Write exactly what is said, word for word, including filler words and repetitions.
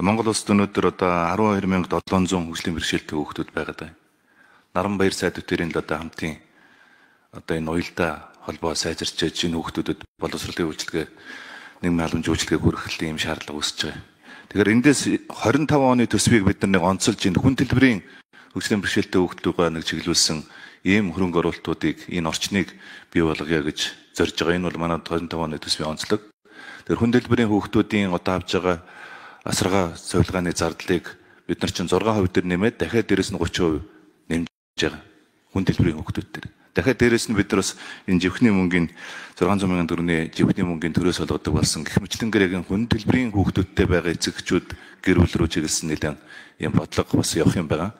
Монгол улсад өнөөдөр одоо арван хоёр мянга долоон зуун хөгжлийн бэрхшээлтэй хүүхдүүд байгаад байна. Наранбаяр сайд үтэрийн одоо хамтын одоо энэ уялдаа холбоо сайжирч энэ хүүхдүүдэд боловсролын үйлчилгээ, нийгмийн халамж үйлчилгээг хүргэх ийм шаардлага үүсэж байгаа. Тэгэхээр эндээс двадцать пять оны төсвийг бид нар нэг онцолж энэ хүн төлбөрийн хөгжлийн бэрхшээлтэй хүүхдүүгээ нэг чиглүүлсэн ийм хөрөнгө оруулалтуудыг энэ орчныг бий болгоё гэж зорж байгаа. Энэ бол манай двадцать пять оны төсвийн онцлог. Тэгэхээр хүн төлбөрийн хүүхдүүдийн одоо авж байгаа асаргаа цовилгааны зардлыг бид нар чинь зургаан хувь дээр нэмээд дахиад дээрэс нь тридцать процент нэмж байгаа. Хүн төлбөрийн хүүхдүүд дээр. Дахиад дээрэс нь бид нар бас энэ живхний мөнгөний зургаан зуун мянган төгрөгийн живхний мөнгөний төрөөс олгодог болсон. Гэх мэтлэн хүн төлбөрийн хүүхдүүдтэй байгаа эцэгчүүд гэр бүл рүү чиглэсэн нэлээд юм бодлого бас явах юм байна.